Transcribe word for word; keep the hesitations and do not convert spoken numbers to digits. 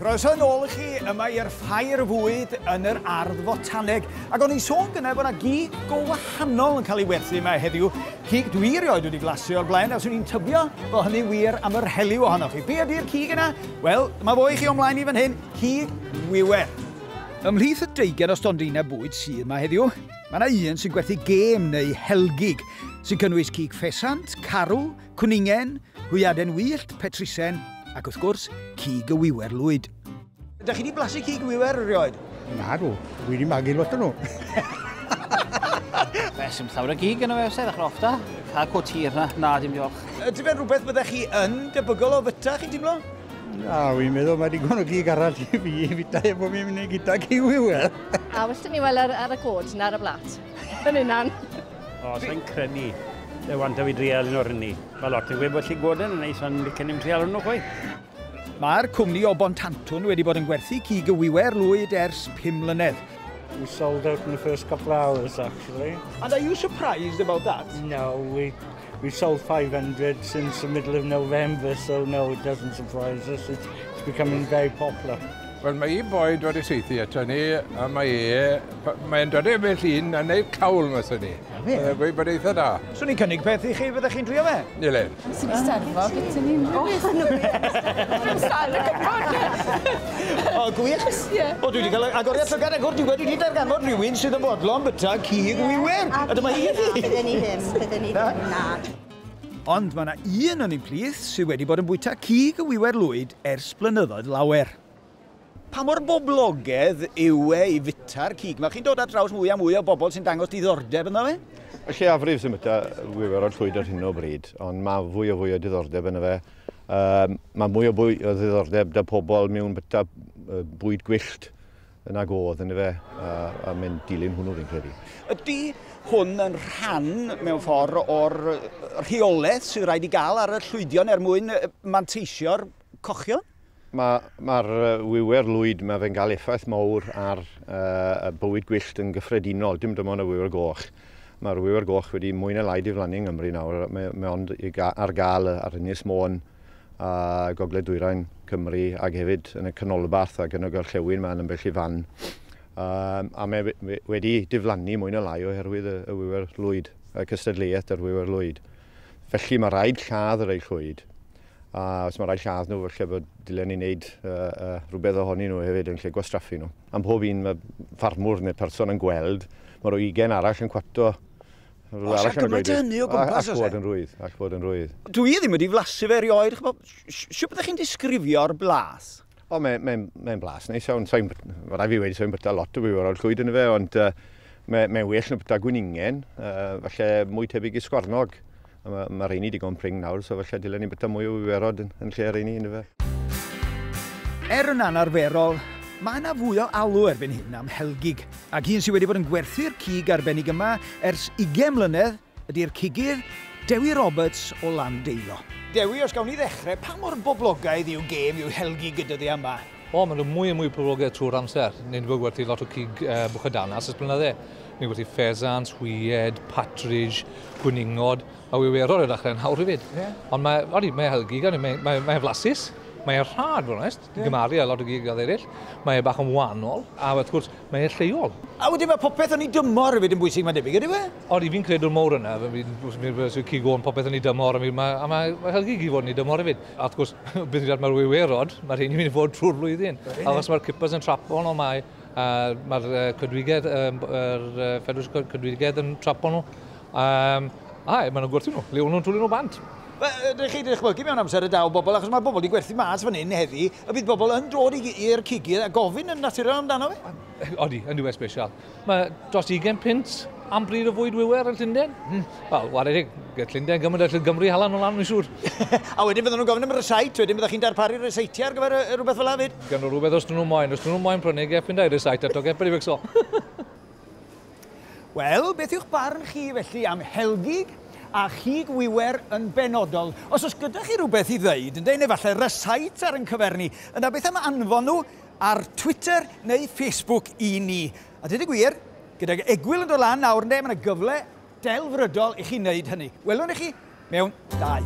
Croeso yn ôl i chi yma i'r ffair fwyd yn yr Ardd Fotaneg. Ac o'n i'n sôn gynna bod yna gig go wahanol yn cael ei werthu yma heddiw. Cig dwi erioed wedi blasu o'r blaen, a swn i'n tybio bod hynny wir am yr helyw ohonoch chi. Be ydy'r cig yna? Wel, dyma fo i chi o'mlaen i fan hyn, cig wiwer. Ymhlith y deugain o stondinau bwyd sydd yma heddiw, mae yna un sy'n gwerthu gêm neu helgig, sy'n cynnwys cig ffesant, carw, cwningen, hwyaden wyllt, petrisen, ac wrth gwrs, cig y wiwer lwyd. Ydych chi wedi blasu cig wiwer erioed? Na dw, dwi wedi magu lot o nhw. Fe, sy'n llawer o gig yna fe, se, ddechrau off da. Cael co tir na, na, dim diolch. Ydy fe'n rhywbeth byddech chi yn debygol o fyta, chi'n teimlo? Na, wi'n meddwl mae digon o gig arall i fi i fita efo fi'n mynd i gyda cig wiwer. A well ni weld ar, ar y cod na ar y blat. Yn unan. O, sa'n credu. E wanta fi drial un o'r hynny. Mae lot yn gweud bod llygoden yn neis, ond licen ni'n trial nhw chwaith. Mae'r cwmni o Bontantwn wedi bod yn gwerthu cig y wiwer lwyd ers pum mlynedd. We sold out in the first couple of hours, actually. And are you surprised about that? No, we, we sold five hundred since the middle of November, so no, it doesn't surprise us. It's, it's becoming very popular. Wel, mae un boi dod i seithi ato ni, a mae e, mae'n dod i'r bell un a neud cawl mas o ni. Mae'n gweud bod eitha da. Swn i'n cynnig peth i chi, fyddech chi'n trio fe? Nilen. Sy'n eisteddfod, gyda ni'n O, gwych. O, dwi wedi cael agoriad llygad agor diwedd, dwi wedi darganfod rhywun sydd yn fodlon byta cig wiwer. A dyma hi i chi. Bydden ni ddim, bydden ni ddim, na. Ond mae yna un yn ein plith sydd wedi bod yn bwyta cig y wiwer lwyd ers blynyddoedd lawer. Pa mor boblogaidd yw e i fita'r cig? Mae chi'n dod ar draws mwy a mwy o bobl sy'n dangos diddordeb ynddo fe? Y lleiafrif sy'n byta wiwerod llwyd ar hyn o bryd, ond mae fwy o fwy o diddordeb ynddo fe. Um, mae mwy o fwy o ddiddordeb da pobl mewn byta bwyd gwyllt yn ag oedd ynddo fe, a, a mae'n dilyn hwnnw fi'n credu. Ydy hwn yn rhan mewn ffordd o'r rheolaeth sydd rhaid i gael ar y llwydion er mwyn manteisio'r cochion? Mae'r ma wiwer lwyd, mae fe'n cael effaith mawr ar uh, bywyd gwyllt yn gyffredinol, dim dim ond y wiwer goch. Mae'r wiwer goch wedi mwy na lai diflannu yng Nghymru nawr, mae, mae ond ar gael ar Ynys Môn a Gogledd Dwyrain Cymru ac hefyd yn y canolbarth ac yn y gorllewin mae'n ambell i fan. Um, a mae wedi diflannu mwy na lai oherwydd y, y wiwer lwyd, y cystadleuaeth yr wiwer lwyd. Felly mae rhaid lladd yr ei llwyd. A os mae rhaid lladd nhw, felly bod dylen ni wneud uh, uh, rhywbeth ohonyn nhw hefyd yn lle gwastraffu nhw. Am pob un mae ffarmwr neu person yn gweld, mae rhyw ugain arall yn cwato. Oes a gymaint hynny o gwmpas oes e? All fod yn rwydd, all fod yn rwydd. Dwi ddim wedi flasu fe erioed, siwt byddech chi'n disgrifio'r blas? O, mae'n mae, mae blas neis iawn. Mae rhaid fi wedi sa'n byta lot o wiwerod llwyd yn fe, ond uh, mae'n mae well na byta gwningen, uh, falle mwy tebyg i sgwarnog. Mae ma rheini digon pring nawr, so falle dylen ni byta mwy o wiwerod yn, yn lle rheini yn fe. Er yn anarferol, mae yna fwy o alw erbyn hyn am helgig. Ac un sydd wedi bod yn gwerthu'r cig arbennig yma ers ugain mlynedd ydy'r cigydd Dewi Roberts o Landeilo. Dewi, os gawn ni ddechrau, pa mor boblogaidd yw gêm yw helgig gyda di yma? O, maen nhw mwy a mwy poblogaidd trwy'r amser. Ni'n wedi gwerthu lot o cig uh, bwchadanas ers blynydde. Ni'n gwerthu ffesant, hwyed, partridge, gwningod, a wiwerod y dechrau yn hawr hefyd. Yeah. Ond mae, odi, mae helgig, mae, mae, mae flasus, mae rhad, fod yn onest, yeah. Gymaru a lot o gig eraill. Mae e bach yn wahanol, a wrth gwrs, mae e lleol. A wedyn mae popeth yn ei dymor hefyd yn bwysig, mae'n debyg, ydy fe? Odi, fi'n credu'r mawr yna, fi'n cig o'n popeth yn ei dymor, a mae, a mae, mae helgig i fod yn ei dymor hefyd. A wrth gwrs, beth yw'n mae'r wiwerod, mae'r rheini mynd i fod trwy'r flwyddyn. A os mae'r kippers yn trapo nhw, mae mae'r cydwigedd, yr ffedrws cydwigedd yn trapo nhw. Um, a, maen nhw'n gwerthu nhw, le o'n nhw'n twlu nhw bant. Ydych chi dychmygu mewn amser y daw bobl, achos mae bobl wedi gwerthu mas fan hyn heddi, a bydd bobl yn dod i'r cigydd a gofyn yn naturiol amdano fe? Odi, yn diwedd special. Mae dros ugain punt am bryd o fwyd wiwer yn Llundain. Mm. Wel, ware teg, Llundain gymaint o Gymru hala nhw lan, mi'n siŵr. A wedyn fydden nhw'n gofyn am rysait, wedyn byddech chi'n darparu ryseitiau ar gyfer rhywbeth fel 'na fyd? Gan nhw rhywbeth os dyn nhw moyn, os dyn nhw moyn prynu, geffyn dau rysait eto, geffyn i fixo. Wel, beth yw'ch barn chi felly am helgig a chig wiwer yn benodol? Os oes gyda chi rhywbeth i ddeud, ynddo, neu falle rysait ar yn cyfer ni, yna beth am anfon nhw ar Twitter neu Facebook i ni. A dweud y gwir, gydag egwyl yn dod lan nawr, ynddo, mae yna gyfle delfrydol i chi wneud hynny. Welwn i chi mewn dau.